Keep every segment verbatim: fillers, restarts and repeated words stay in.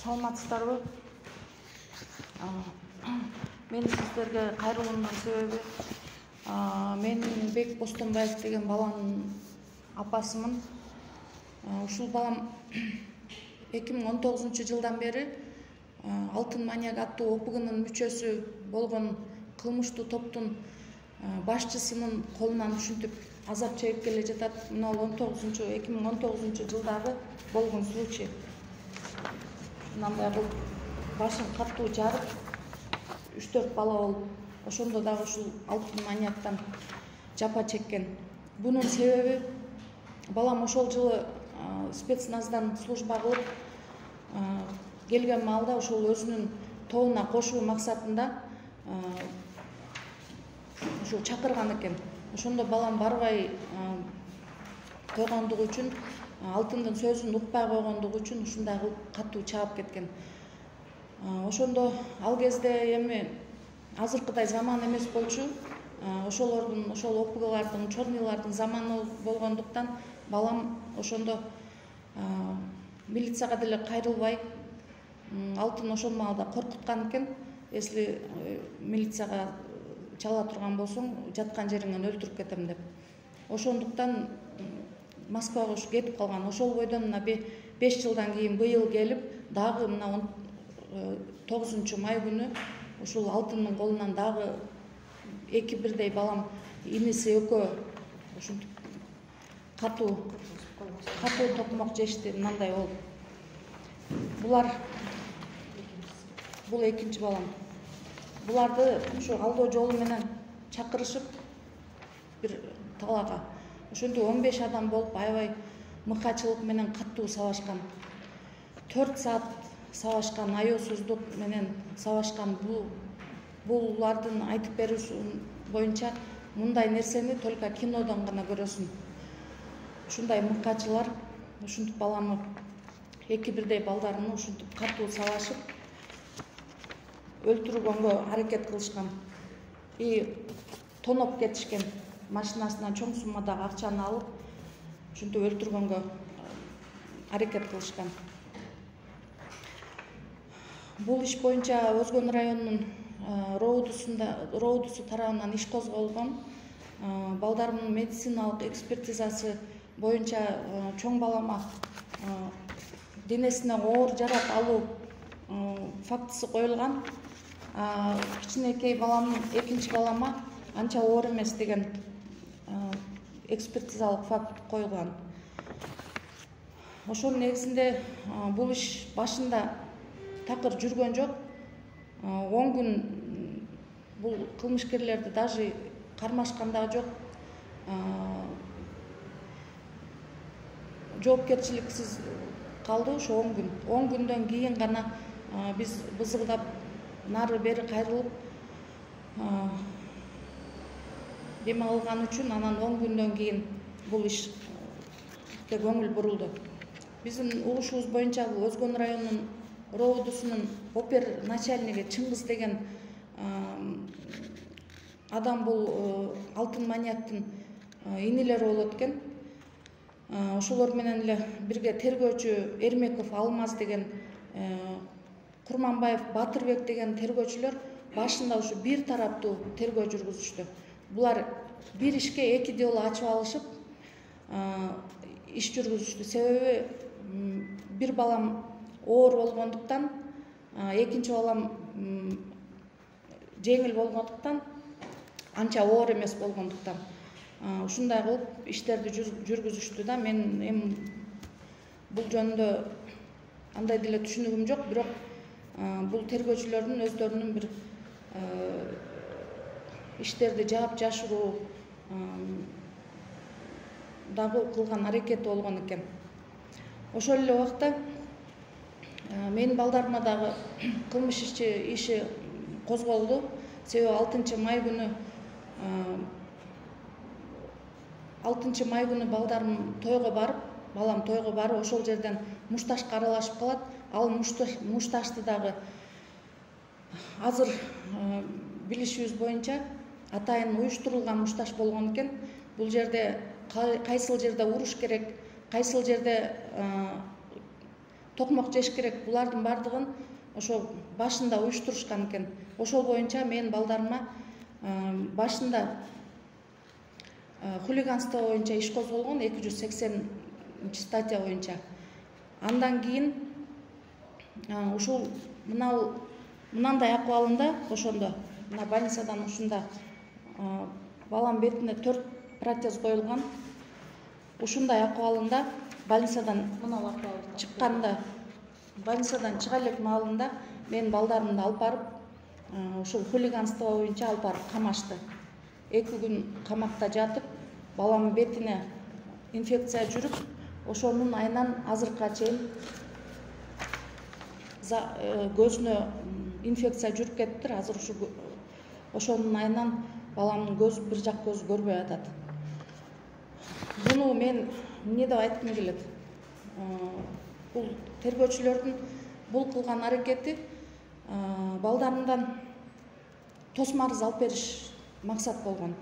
Саламатсыздарбы? Мен сиздерге кайрылуумдун себеби мен Бек Бостонбаев деген баланын апасымын. Ушул балам эки миң он тогузунчу жылдан бери Алтын маньяк аттуу ОПГнын мүчөсү болгон кылмыштуу топтун башчысынын колунан ушинтип азап чегип келе жатат. Мына он тогузунчу эки миң он тогузунчу жылдагы болгон случай. Мындай кылып башын катуу жарып, үч төрт бала болуп, ошондо дагы ушул алтын маньяктан жапа чеккен. Бунун себеби балам ошол жылы спецназдан служба кылып келген маалда ошол өзүнүн тобуна кошуу максатында ушул чакырган экен. Ошондо балам барбай койгондугу үчүн, алтындын сөзүн укпай койгондугу үчүн ушундай кылып катуу чаап кеткен. Ошондо ал кезде эми азыркыдай заман эмес болчу. Ошолордун, ошол ОПГлардын, чорныйлардын заманы болгондуктан балам ошондо милицияга деле кайрылбай, алтын ошол маалда коркуткан экен. Если милицияга чала турган болсоң, жаткан жериңен өлтүрүп кетем деп. Ошондуктан Москвага ушу кетип калган. Ошол бойдон мына беш жылдан кийин быйыл келип, дагы мына он тогузунчу май күнү ушул алтындын колунан дагы эки бирдей балам, иниси экөө ушинтип катуу катуу токмок жешти. Мындай болуп. Булар бул экинчи балам. Буларды ушу алдоо жолу менен чакырышып бир талаага. Ошентип он беш адам болуп, аябай мыкачылык менен катуу сабашкан. төрт саат сабашкан, аеосуздук менен сабашкан. Бул булардын айтып берүүсү боюнча мындай нерсени только кинодон гана көрөсүң. Ушундай мыкачылар ушинтип баламы, эки бирдей балдарымы ушинтип катуу сабашып өлтүргөнгө аракет кылышкан. И тоноп кетишкен. Машинасынан чоң суммадагы акчаны алып, ушинтип өлтүргөнгө аракет кылышкан. Бул иш боюнча Өзгөн районунун роодусу тарабынан иш козголгон. Балдарымдын медициналык экспертизасы боюнча чоң балама денесине оор жарак алуу фактысы коюлган. Кичинекей балам, экинчи балама анча оор эмес деген экспертизалык факт коюлган. Ошонун негизинде бул иш башында такыр жүргөн жок. он күн бул кылмышкерлерди даже кармашкан дагы жок. Жоопкерчиликсиз калды ошо он күн. он күндөн кийин гана биз бызылдап нары бери кайрылып дем алган үчүн анан он күндөн кийин бул ишке көңүл бурулду. Биздин угушубуз боюнча бул Өзгөн районунун роодусунун опер начальниги Чыңгыз деген адам бул алтын маньяктын инилери болот экен. Ошолор менен эле бирге тергөөчү Эрмеков Алмаз деген, Курманбаев Батырбек деген тергөөчүлөр башында ушу бир тараптуу тергөө жүргүзүштү. Булар бир ишке эки дело ачып алышып иш жүргүзүштү. Себеби бир балам оор болгондуктан, экинчи балам жеңил болгондуктан, анча оор эмес болгондуктан ушундай кылып иштерди жүргүзүштү да. Мен эми бул жөнүндө андай деле түшүнүгүм жок, бирок бул тергөөчүлөрдүн өздөрүнүн бир иштерди жаап жашыруу дагы кылган аракети болгон экен. Ошол эле убакта менин балдарыма дагы кылмыш иши иши козголду. Себеби алтынчы май күнү алтынчы май күнү балдарым тойго барып, балам тойго барып, ошол жерден мушташка аралашып калат. Ал мушташты дагы азыр билишибиз боюнча атайын уюштурулган мушташ болгон экен. Бул жерде кайсыл жерде уруш керек, кайсыл жерде токмок жеш керек. Булардын бардыгын ошо башында уюштурушкан экен. Ошол боюнча мен балдарыма башында хулиганство боюнча иш козголгон эки жүз сексенинчи статья боюнча. Андан кийин ушул мынау мынандай акыбалында ошондо мына больницадан ушунда балам бетине төрт протез коюлган. Ушундай акыбалында больницадан чыкканда, больницадан чыга элек маалында мен балдарымды алып барып, ушул хулиганство боюнча алып барып камашты. Эки күн камакта жатып, баламдын бетине инфекция жүрүп, ошонун айынан азыркыга чейин көзүнө инфекция жүрүп кетиптир. Азыр ушу ошонун айынан баламдын көзү бир жак көзү көрбөй атат. Буну мен эмне деп айткым келет? Бул тергөөчүлөрдүн бул кылган аракети балдарымдан тосмарыз алып бериш максат болгон.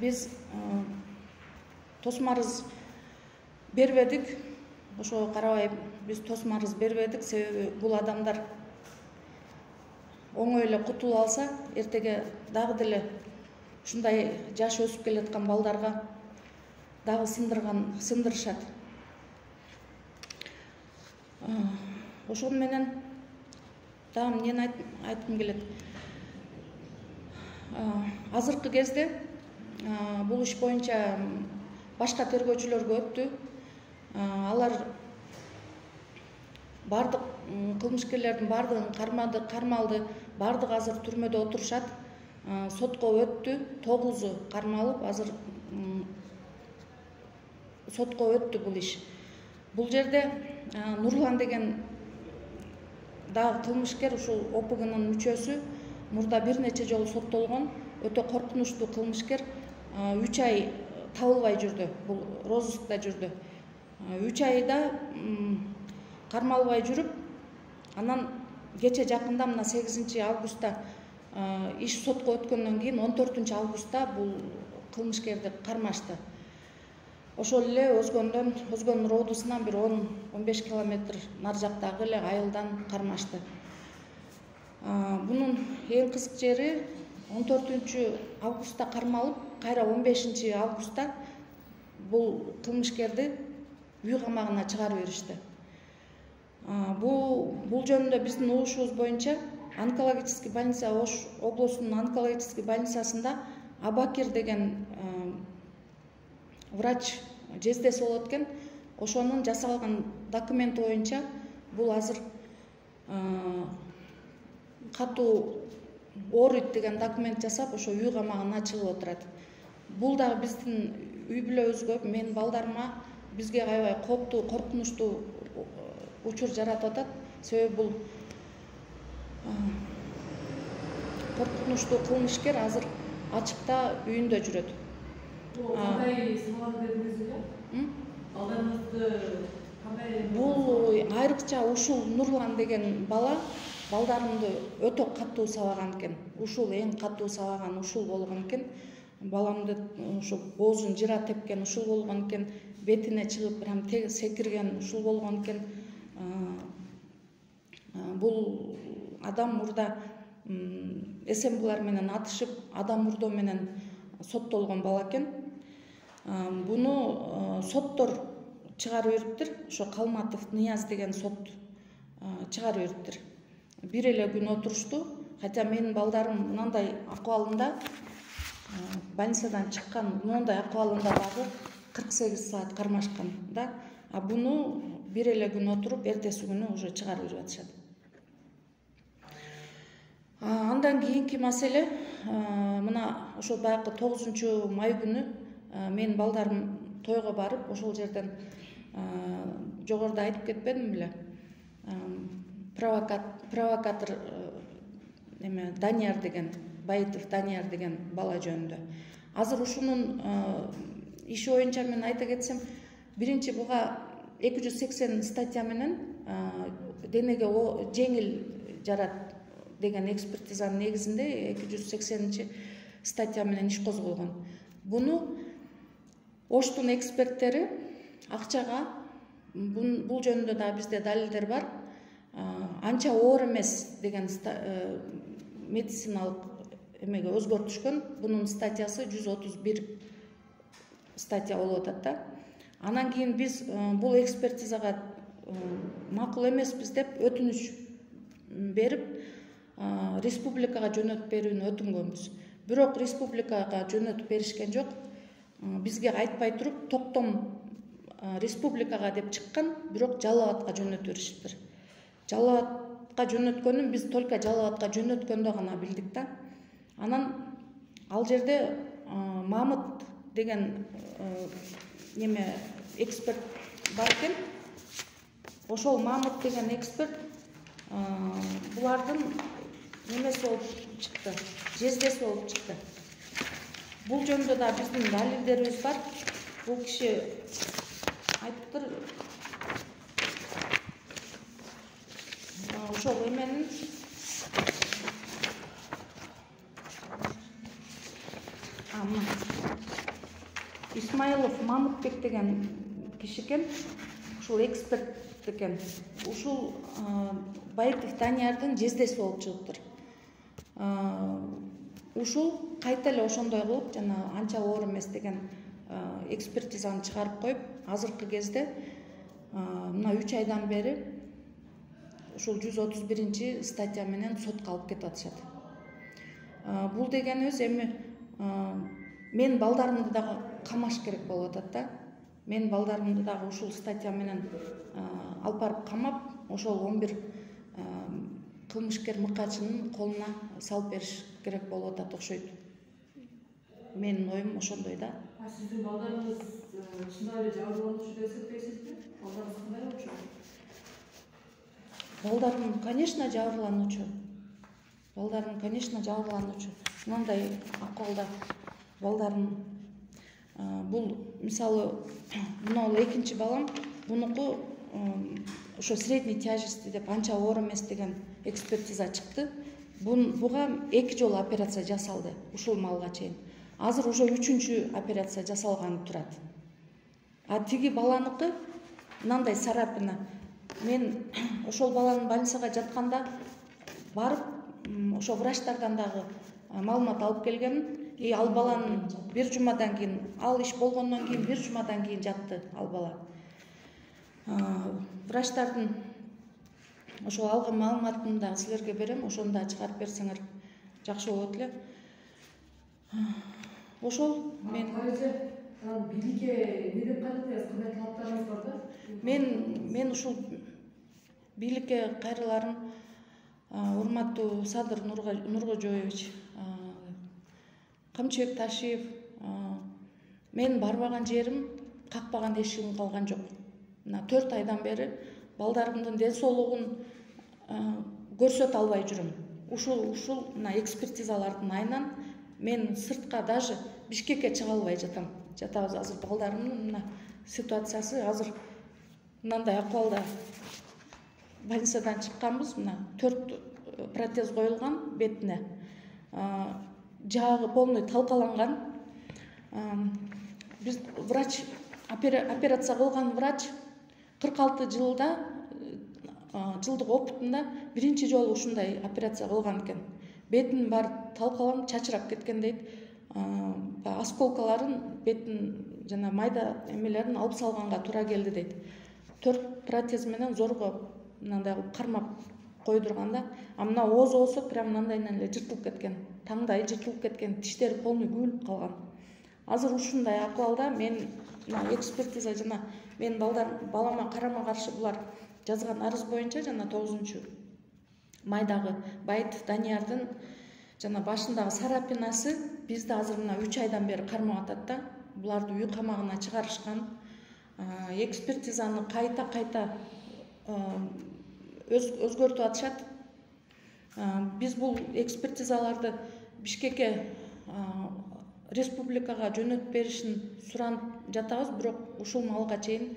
Биз тосмарыз бербедик. Ошого карабай биз тосмарыз бербедик, себеби бул адамдар оңой эле кутулуп алса, эртеге дагы деле ушундай жаш өсүп келаткан балдарга дагы сындырган сындырышат. Ошону менен дагы эмнени айткым келет? Азыркы кезде бул иш боюнча башка тергөөчүлөргө өттү. Алар бардык кылмышкерлердин бардыгын кармады, кармалды. Бардыгы азыр түрмөдө отурушат. Сотко өттү. тогузу кармалып, азыр сотко өттү бул иш. Бул жерде Нурлан деген дагы кылмышкер, ушул О П Гнын мүчөсү, мурда бир нече жолу соттолгон, өтө коркунучтуу кылмышкер. үч ай табылбай жүрдү, бул розыскта жүрдү. үч айда кармалбай жүрүп, анан кече жакында мына сегизинчи августта иш сотко өткөндөн кийин он төртүнчү августта бул кылмышкерди кармашты. Ошол эле Өзгөндөн, Өзгөн Роодусунан бир он он беш километр нары жактагы эле айылдан кармашты. Бунун эң кызык жери он төртүнчү августта кармалып, кайра он бешинчи августта бул кылмышкерди үй камагына чыгарып беришти. Бул бул жөнүндө биздин угушубуз боюнча онкологический больница, Ош облусунун онкологический больницасында Абакир деген врач жездеси болот экен. Ошонун жасалган документи боюнча бул азыр катуу ооруйт деген документ жасап, ошо үй камагына чыгып отурат. Бул дагы биздин үй бүлөбүзгө, менин балдарыма, бизге аябай кооптуу, коркунучтуу учур жаратып атат. Себеби бул коркунучтуу кылмышкер азыр ачыкта үйүндө жүрөт. Кандай сабак бердиңизби? Балдарыңызды кандай? Бул айрыкча ушул Нурлан деген бала балдарымды өтө катуу сабаган экен. Ушул эң катуу сабаган ушул болгон экен. Баламды ушу боозун жыра тепкен ушул болгон экен. Бетине чыгып прям секирген ушул болгон экен. Бул адам мурда СМБлар менен атышып, адам мурдоо менен соттолгон бала экен. Буну соттор чыгарып бериптир. Ошо Калматов Нияз деген сот чыгарып бериптир. Бир эле күн отурушту. Хотя менин балдарым мындай акыбалында, больницадан чыккан мындай акыбалында дагы кырк сегиз саат кармашкан да. А буну бир эле күн отуруп, эртеси күнү уже чыгарып берип атышат. Андан кийинки маселе, мына ошо баягы тогузунчу май күнү менин балдарым тойго барып, ошол жерден жогоруда айтып кетпедимби беле? Провокатор эме Данияр деген, Байытов Данияр деген бала жөнүндө. Азыр ушунун иши боюнча мен айта кетсем, биринчи буга эки жүз сексен статья менен денеге жеңил жарат деген экспертизанын негизинде эки жүз сексенинчи статья менен иш козголгон. Буну Оштун эксперттери акчага бул жөнүндө да бизде далилдер бар. Анча оор эмес деген медициналык эмеге өзгөрүп түшкөн. Бунун статьясы жүз отуз бир статья болуп атат да. Анан кийин биз бул экспертизага макул эмеспиз деп өтүнүч берип республикага жөнөтүп берүүнү өтүнгөнбүз. Бирок республикага жөнөтүп беришкен жок. Бизге айтпай туруп токтом республикага деп чыккан, бирок Жалал Абадка жөнөтүп беришиптир. Жалал Абадка жөнөткөнүн биз только Жалал Абадка жөнөткөндө гана билдик да. Анан ал жерде Мамыт деген неме эксперт бар экен. Ошол Мамыт деген эксперт булардын немеси болуп чыкты, жездеси болуп чыкты. Бул жөнүндө да биздин далилдерибиз бар. Бул киши айтыптыр, ошол эменин Исмаилов Мамытбек деген киши экен. Ушул эксперт экен. Ушул Баитов Даниярдын жездеси болуп чыгыптыр. Ушул кайта эле ошондой кылып жана анча оор эмес деген экспертизаны чыгарып коюп, азыркы кезде мына үч айдан бери ушул жүз отуз биринчи статья менен сотко алып кетип атышат. Бул дегенибиз эми мен балдарымды дагы камаш керек болуп атат да. Мен балдарымды дагы ушул статья менен алып барып камап, ошол он бир кылмышкер мыкачынын колуна салып бериш керек болуп атат окшойт. Менин оюм ошондой да. А сиздин балдарыңыз чындап эле жабырлануучу деп эсептейсизби? Балдарыңыз кандай болчу? Балдарым, конечно, жабырлануучу. Балдарым, конечно, жабырлануучу. Мындай акыбалда балдарым, бул мисалы мына экинчи балам, бунуку ошо средний тяжести деп анча оор эмес деген экспертиза чыкты. Буга эки жолу операция жасалды ушул малга чейин. Азыр уже үчүнчү операция жасалганы турат. А тиги баланыкы мындай сарапина. Мен ошол баланын больницага жатканда барып, ошо врачтардан дагы маалымат алып келгем. И ал баланын бир жумадан кийин, ал иш болгондон кийин бир жумадан кийин жатты ал бала. Врачтардын ошол алган маалыматын дагы силерге берем, ошону да чыгарып берсеңер жакшы болот эле. Ошол мен бийликке эмне деп кайрыласыз? Кандай талаптарыңыз бар да? Мен мен ушул бийликке кайрыларым, урматтуу Садыр Нуркожоевич, Камчыбек Ташиев, мен барбаган жерим, какпаган эшигим калган жок. Мына төрт айдан бери балдарымдын ден соолугун көрсөтө албай жүрөм. Ушул ушул мына экспертизалардын айынан мен сыртка даже Бишкекке чыга албай жатам. Жатабыз азыр балдарымдын мына ситуациясы азыр мындай акыбалда. Больницадан чыкканбыз, мына төрт протез коюлган бетине. Жагы полный талкаланган. Биз врач операция кылган врач кырк алты жылда жылдык опытында биринчи жолу ушундай операция кылган экен. Бетинин баары талкаланып, чачырап кеткен дейт. Осколкаларын, бетин жана майда эмелерин алып салганга туура келди дейт. Төрт протез менен зорго мындай кылып кармап койдурганда, а мына ооз болсо прям мындайынан эле жыртылып кеткен. Таңдайы жыртылып кеткен, тиштери полный күбүлүп калган. Азыр ушундай акыбалда мен мына экспертиза жана мен балдар балама карама каршы булар жазган арыз боюнча жана тогузунчу майдагы Баитов Даниярдын жана башындагы сарапинасы бизди азыр мына үч айдан бери кармап атат да. Буларды үй камагына чыгарышкан. Экспертизаны кайта-кайта өзгөртүп атышат. Биз бул экспертизаларды Бишкекке республикага жөнөтүп беришин суранып жатабыз, бирок ушул малга чейин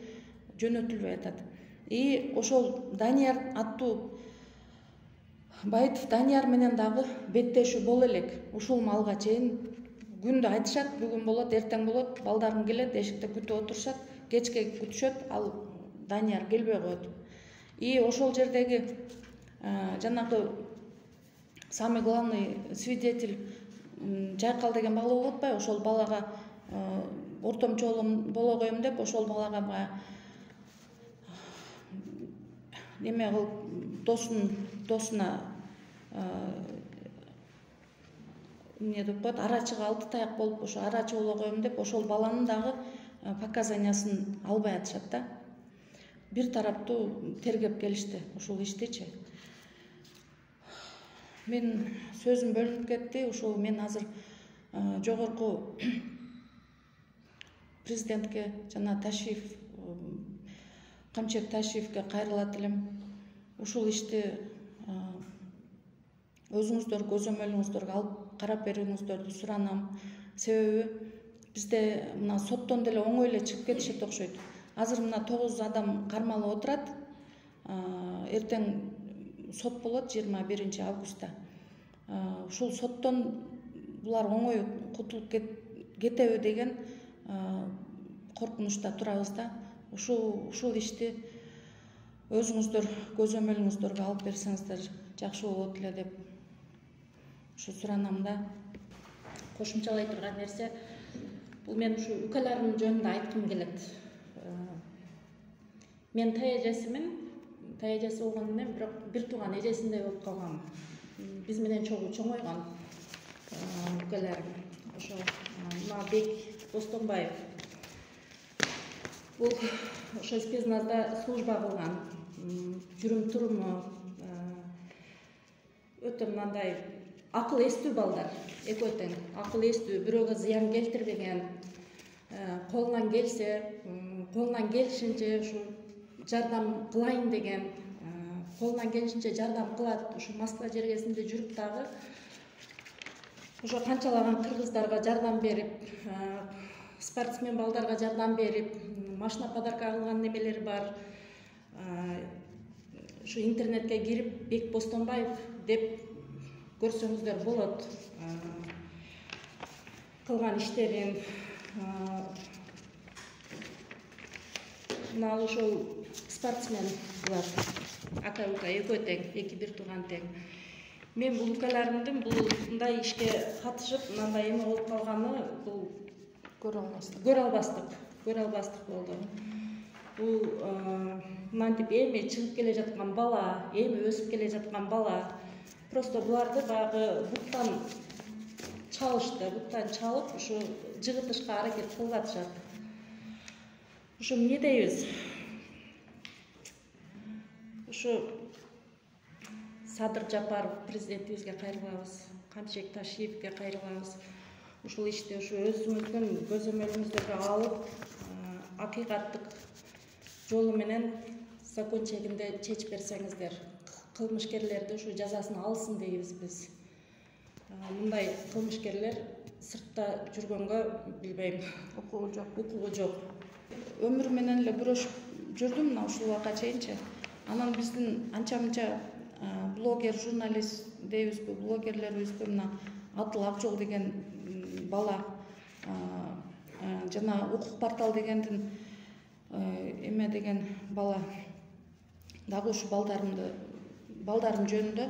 жөнөтүлбөй атат. И ошол Данияр аттуу Баитов Данияр менен дагы беттешүү боло элек. Ушул малга чейин күндө айтышат, бүгүн болот, эртең болот, балдарым келет, эшикте күтүп отурушат. кечке күтүшөт, ал Данияр келбей коет. И ошол жердеги жанагы самый главный свидетель Жайкал деген бала болуп атпайбы, ошол балага ортомчу оолум боло коем деп ошол балага баягы неме кылып досун досуна эмне деп коет, арачыга алты таяк болуп ошо арачы боло коем деп ошол баланын дагы показаниясын албай атышат да. Бир тараптуу тергеп келишти ушул иштичи. Мен сөзүм бөлүнүп кетти. Ушул мен азыр жогорку президентке жана Ташиев, Камчет Ташиевке кайрылат элем. Ушул ишти өзүңүздөр көзөмөлүңүздөргө алып карап берүүңүздөрдү суранам. Себеби бизде мына соттон деле оңой эле чыгып кетишет окшойт. Азыр мына тогуз адам кармалып отурат. Эртең сот болот жыйырма биринчи августта. Ушул соттон булар оңой кутулуп кетеби деген коркунучта турабыз да. Ушул ушул ишти өзүңүздөр көзөмөлүңүздөргө алып берсеңиздер жакшы болот эле деп ушу суранам да. Кошумчалай турган нерсе, бул мен ушу укаларым жөнүндө айткым келет. Мен тай эжесимин, тай эжеси болгондон кийин бирок бир тууган эжесиндей болуп калгам. Биз менен чогуу чоңойгон укаларым. Ошо мына Бек Бостонбаев. Бул ошо спецназда служба кылган. Жүрүм туруму өтө мындай акыл эстүү балдар, экөө тең акыл эстүү, бирөөгө зыян келтирбеген, колунан келсе, колунан келишинче ушу жардам кылайын деген, колунан келишинче жардам кылат. Ушу Москва жергесинде жүрүп дагы ошо канчалаган кыргыздарга жардам берип, спортсмен балдарга жардам берип, машина подарка кылган немелери бар. Ушу интернетке кирип Бек Бостонбаев деп көрсөңүздөр болот. Кылган иштерин мына ошол спортсмен булар. Ака-ука экөө тең, эки бир тууган тең. Мен бул укаларымдын бул мындай ишке катышып, мындай эме болуп калганы бул көрө албастык. Көрө албастык, көрө албастык болду. Бул мынтип эми чыгып келе жаткан бала, эми өсүп келе жаткан бала. Просто буларды баягы буттан чалышты, буттан чалып, ушу жыгытышка аракет кылып атышат. Ушу эмне дейбиз? Ушу Садыр Жапаров президентибизге кайрылабыз, Камчет Ташиевке кайрылабыз. Ушул ишти ушу өзүңүздүн көзөмөлүңүздөргө алып, акыйкаттык жолу менен закон чегинде чечип берсеңиздер, кылмышкерлерди ушу жазасын алсын дейбиз биз. Мындай кылмышкерлер сыртта жүргөнгө билбейм, Укугу жок. укугу жок. Өмүр менен эле күрөшүп жүрдүм мына ушул убакка чейинчи. Анан биздин анча-мынча блогер, журналист дейбизби, блогерлерибизби мына Атыл Акжол деген бала, жана Укук портал дегендин эме деген бала дагы ушу балдарымды балдарым жөнүндө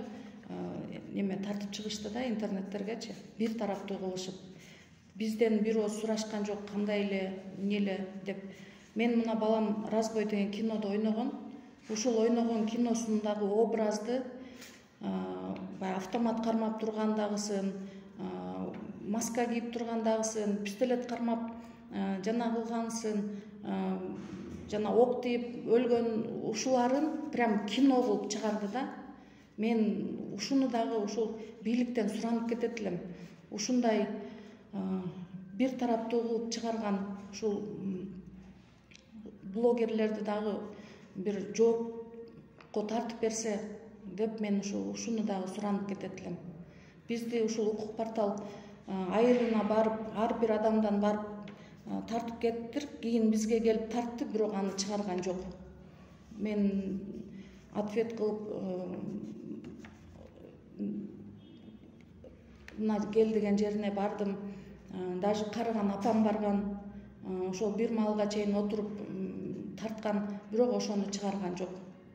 неме тартып чыгышты да интернеттергечи. Бир тараптуу кылышып. Бизден бир ооз сурашкан жок, кандай эле, эмне эле деп. Мен мына балам Разбой деген кинодо ойногон. Ушул ойногон киносундагы образды баягы автомат кармап тургандагысын, маска кийип тургандагысын, пистолет кармап жана кылгансын, жана ок тийип өлгөн ушуларын прям кино кылып чыгарды да. Мен ушуну дагы ушул бийликтен суранып кетет элем. Ушундай бир тараптуу кылып чыгарган ушул блогерлерди дагы бир жоопко тартып берсе деп мен ушу ушуну дагы суранып кетет элем. Бизди ушул Укук портал айылына барып, ар бир адамдан барып тартып кеттир, кийин бизге келип тартты, бирок аны чыгарган жок. Мен ответ кылып мына кел деген жерине бардым. Даже карыган апам барган. Ошол бир маалга чейин отуруп тарткан, бирок ошону чыгарган жок.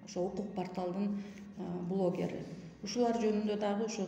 Ошо укук порталдын блогери. Ушулар жөнүндө дагы ушу